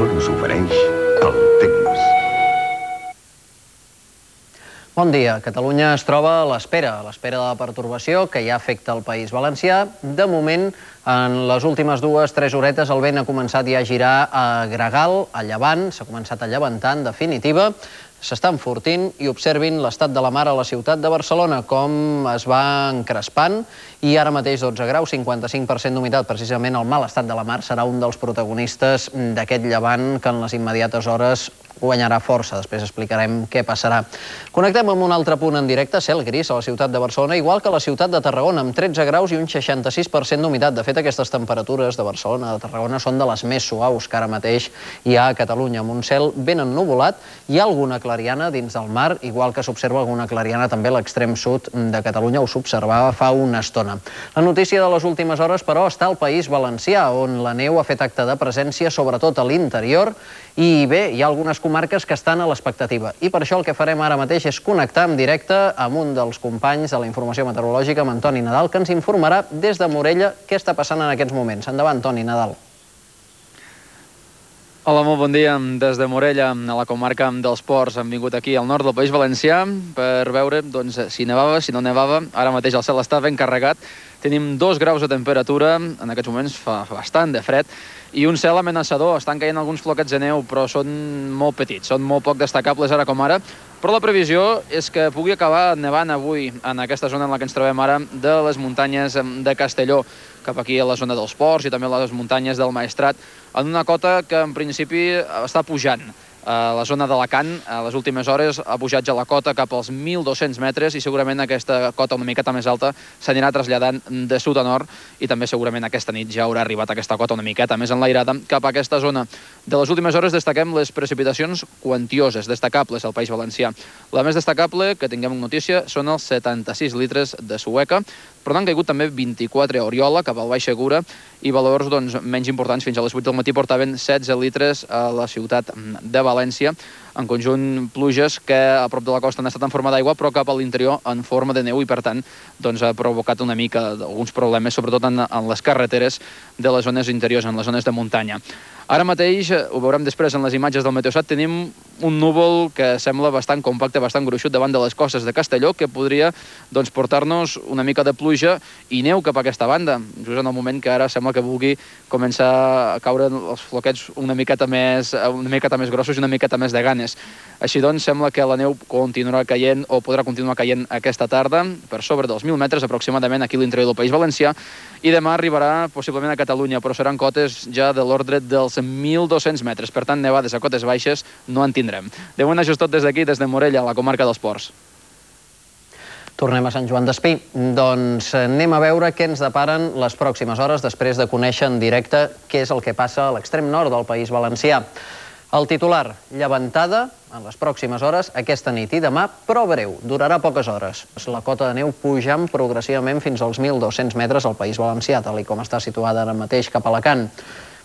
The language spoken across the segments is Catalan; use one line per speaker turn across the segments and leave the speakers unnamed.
solo us ofereix el temps.
Bon dia. Catalunya es troba a l'espera de la pertorbació que ja afecta el País Valencià. De moment, en les últimes 2-3 horetes, el vent ha començat ja a girar a gregal, a llevant, s'ha començat a llevantar, en definitiva. S'està enfortint i observin l'estat de la mar a la ciutat de Barcelona, com es va encrespant, i ara mateix 12 graus, 55% d'humitat. Precisament el mal estat de la mar serà un dels protagonistes d'aquest llevant que en les immediates hores guanyarà força. Després explicarem què passarà. Connectem amb un altre punt en directe, cel gris a la ciutat de Barcelona, igual que a la ciutat de Tarragona, amb 13 graus i un 66% d'humitat. De fet, aquestes temperatures de Barcelona, de Tarragona, són de les més suaus que ara mateix hi ha a Catalunya, amb un cel ben ennuvolat. Hi ha alguna clariana dins del mar, igual que s'observa alguna clariana també a l'extrem sud de Catalunya, ho s'observava fa una estona. La notícia de les últimes hores, però, està al País Valencià, on la neu ha fet acte de presència, sobretot a l'interior, i bé, hi ha algunes comarques que estan a l'expectativa. I per això el que farem ara mateix és connectar en directe amb un dels companys de la informació meteorològica, amb Antoni Nadal, que ens informarà des de Morella què està passant en aquests moments. Endavant, Toni Nadal.
Hola, molt bon dia. Des de Morella, a la comarca dels Ports, hem vingut aquí al nord del País Valencià per veure si nevava, si no nevava. Ara mateix el cel està ben carregat. Tenim 2 graus de temperatura, en aquests moments fa bastant de fred, i un cel amenaçador. Estan caient alguns floquets de neu, però són molt petits, són molt poc destacables ara com ara. Però la previsió és que pugui acabar nevant avui en aquesta zona en la que ens trobem ara, de les muntanyes de Castelló, cap aquí a la zona dels Ports i també a les muntanyes del Maestrat, en una cota que en principi està pujant. A la zona d'Alacant, a les últimes hores, ha pujat ja la cota cap als 1.200 metres i segurament aquesta cota una miqueta més alta s'anirà traslladant de sud a nord i també segurament aquesta nit ja haurà arribat aquesta cota una miqueta més enlairada cap a aquesta zona. De les últimes hores destaquem les precipitacions quantioses, destacables al País Valencià. La més destacable, que tinguem notícia, són els 76 litres de Sueca, però n'han caigut també 24 a Oriola, cap al Baix Segura, i valors menys importants, fins a les 8 del matí portaven 16 litres a la ciutat de València. En conjunt, pluges que a prop de la costa han estat en forma d'aigua, però cap a l'interior en forma de neu i, per tant, ha provocat una mica alguns problemes, sobretot en les carreteres de les zones interiors, en les zones de muntanya. Ara mateix, ho veurem després en les imatges del Meteosat, tenim un núvol que sembla bastant compacte, bastant gruixut davant de les costes de Castelló, que podria portar-nos una mica de pluja i neu cap a aquesta banda, just en el moment que ara sembla que vulgui començar a caure els floquets una miqueta més grossos i una miqueta més de ganes. Així doncs, sembla que la neu continuarà caient o podrà continuar caient aquesta tarda, per sobre dels 1.000 metres aproximadament aquí a l'interior del País Valencià, i demà arribarà possiblement a Catalunya, però seran cotes ja de l'ordre dels 1.200 metres. Per tant, nevades a cotes baixes no en tindrem. De moment, això és tot des d'aquí, des de Morella, a la comarca dels Ports.
Tornem a Sant Joan d'Espí. Doncs anem a veure què ens deparen les pròximes hores després de conèixer en directe què és el que passa a l'extrem nord del País Valencià. El titular, llevantada en les pròximes hores, aquesta nit i demà, però breu, durarà poques hores. La cota de neu pujant progressivament fins als 1.200 metres al País Valencià, tal com està situada ara mateix cap a Alacant.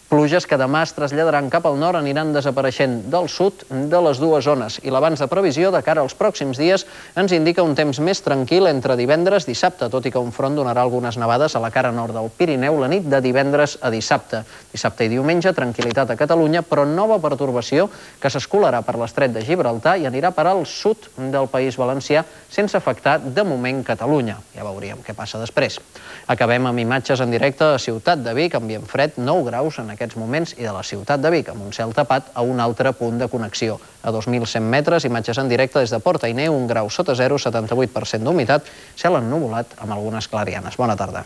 Pluges que demà es traslladaran cap al nord, aniran desapareixent del sud de les dues zones. I l'avanç de previsió de cara als pròxims dies ens indica un temps més tranquil entre divendres i dissabte, tot i que un front donarà algunes nevades a la cara nord del Pirineu la nit de divendres a dissabte. Dissabte i diumenge, tranquil·litat a Catalunya, però nova pertorbació que s'escolarà per l'estret de Gibraltar i anirà per al sud del País Valencià sense afectar de moment Catalunya. Ja veuríem què passa després. Acabem amb imatges en directe a Ciutat de Vic, ambient fred, 9 graus en aquests moments, i de la ciutat de Vic, amb un cel tapat a un altre punt de connexió. A 2.100 metres, imatges en directe des de Port-Ainé, 1 grau sota 0, 78% d'humitat, cel ennuvolat amb algunes clarianes. Bona tarda.